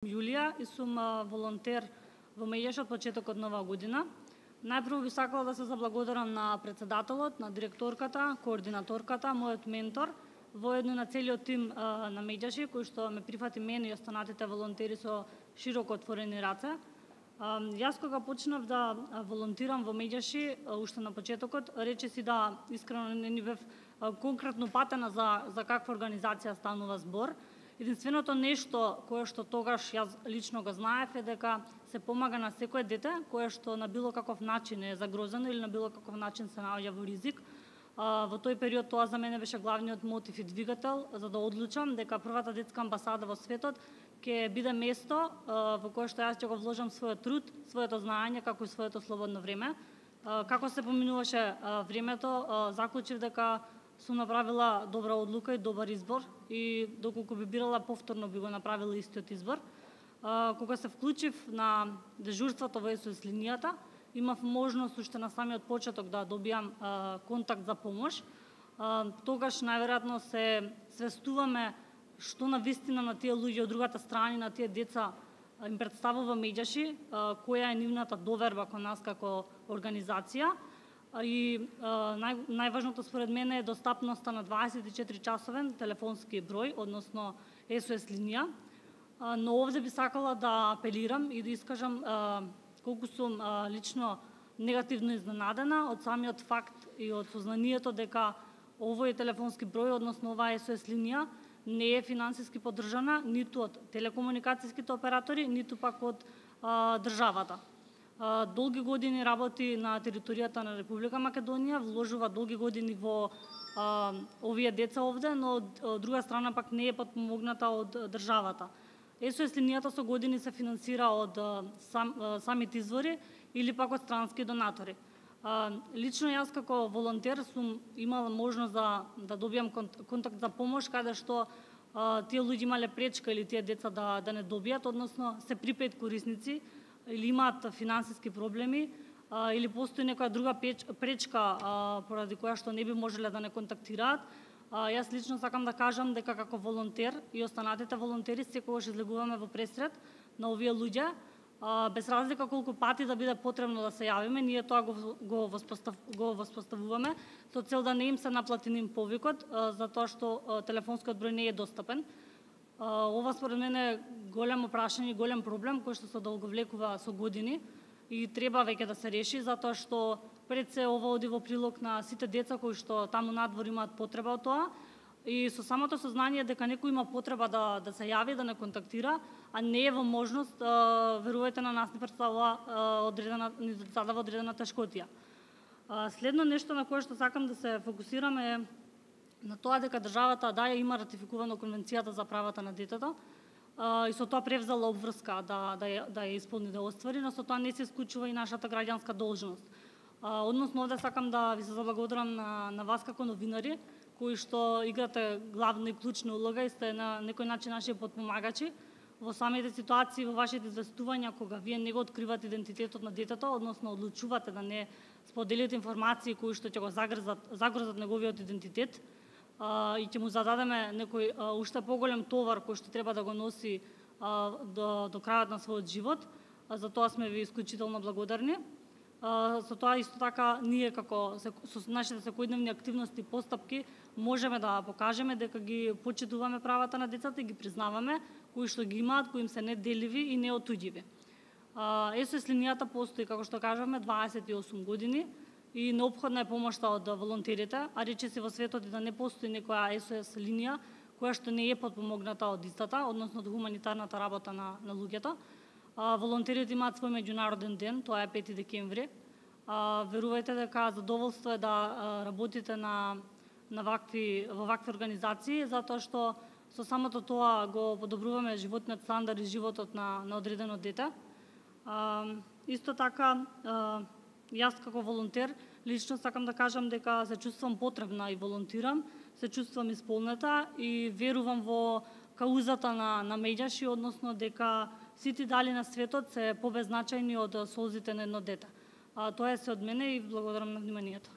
Јулија и сум волонтер во Медјаши од почетокот на оваа година. Најпрво би сакала да се заблагодарам на председателот, на директорката, координаторката, мојот ментор, воедно на целиот тим на Медјаши, кој што ме прифати мене и останатите волонтери со широко отворени раце. Јас кога почнав да волонтирам во Медјаши, уште на почетокот, речиси да искрено не ни бев конкретно патена за каква организација станува збор. Единственото нешто кое што тогаш јас лично го знаев е дека се помага на секое дете кое што на било каков начин е загрозено или на било каков начин се наоѓа во ризик. Во тој период тоа за мене беше главниот мотив и двигател за да одлучам дека првата детска амбасада во светот ќе биде место во кое што јас ќе го вложам својот труд, своето знаење како и своето слободно време. Како се поминуваше времето, заклучив дека сум направила добра одлука и добар избор и доколку би бирала повторно би го направила истиот избор. Кога се вклучив на дежурството во SOS линијата, имав можност уште на самиот почеток да добијам контакт за помош. Тогаш најверојатно се свестуваме што навистина на тие луѓе од другата страна, на тие деца им представува Медјаши, која е нивната доверба кон нас како организација. И најважното според мене е достапноста на 24-часовен телефонски број, односно SOS линија. Но овде би сакала да апелирам и да искажам колку сум лично негативно изненадена од самиот факт и од сознанието дека овој телефонски број, односно оваа SOS линија, не е финансиски поддржана ниту од телекомуникацијските оператори, ниту пак од државата. Долги години работи на територијата на Република Македонија, вложува долги години во овие деца овде, но од друга страна пак не е подпомогната од државата. SOS линијата со години се финансира од самите извори или пак од странски донатори. Лично јас како волонтер сум имала можност да добијам контакт за помош каде што тие луѓе имале пречка или тие деца да не добијат, односно се припет корисници или имаат финансиски проблеми, или постои некоја друга пречка поради која што не би можеле да не контактираат. Јас лично сакам да кажам дека како волонтер и останатите волонтери секогаш излегуваме во пресред на овие луѓе, без разлика колку пати да биде потребно да се јавиме, ние тоа го воспоставуваме со цел да не им се наплати ним повикот, затоа што телефонскиот број не е достапен. Ова според мене е големо прашање, голем проблем кој што се долговлекува со години и треба веќе да се реши, затоа што пред се ова оди во прилог на сите деца кои што таму надвор имаат потреба од тоа и со самото сознание дека некој има потреба да се јави, да не контактира, а не е во можност, верувајте на нас ни задава одредена тешкотија. Следно нешто на кое што сакам да се фокусираме е на тоа дека државата има ратификувано Конвенцијата за правата на детето и со тоа превзела обврска да ја исполни, да оствари, но со тоа не се исклучува и нашата граѓанска должност. Односно, овде сакам да ви се заблагодарам на вас како новинари, кои што играте главна и клучна улога и сте на некој начин наши подпомагачи во самите ситуации, во вашите известувања, кога вие не го откривате идентитетот на детето, односно одлучувате да не споделите информации кои што ќе го загрозат неговиот идентитет, и ќе му зададеме некој уште поголем товар кој што треба да го носи до крајот на својот живот. За тоа сме ви исклучително благодарни. Со тоа исто така ние како со нашите секојдневни активности и постапки можеме да покажеме дека ги почитуваме правата на децата и ги признаваме, кои што ги имаат, кои им се неделиви и неотуѓиви. SOS линијата постои, како што кажавме, 28 години и неопходна е помошта од волонтерите, а речиси во светот и да не постои некоја SOS линија која што не е подпомогната од истата, односно од хуманитарната работа на луѓето. Волонтерите имаат свој меѓународен ден, тоа е 5 декември. Верувајте дека задоволство е да работите во вакви организации, затоа што со самото тоа го подобруваме животниот стандард и животот на одредено дете. Исто така, јас како волонтер лично сакам да кажам дека се чувствам потребна и волонтирам, се чувствам исполнета и верувам во каузата на Медјаши, односно дека сите дали на светот се побезначајни од солзите на едно дете. Тоа е се од мене и благодарам на вниманието.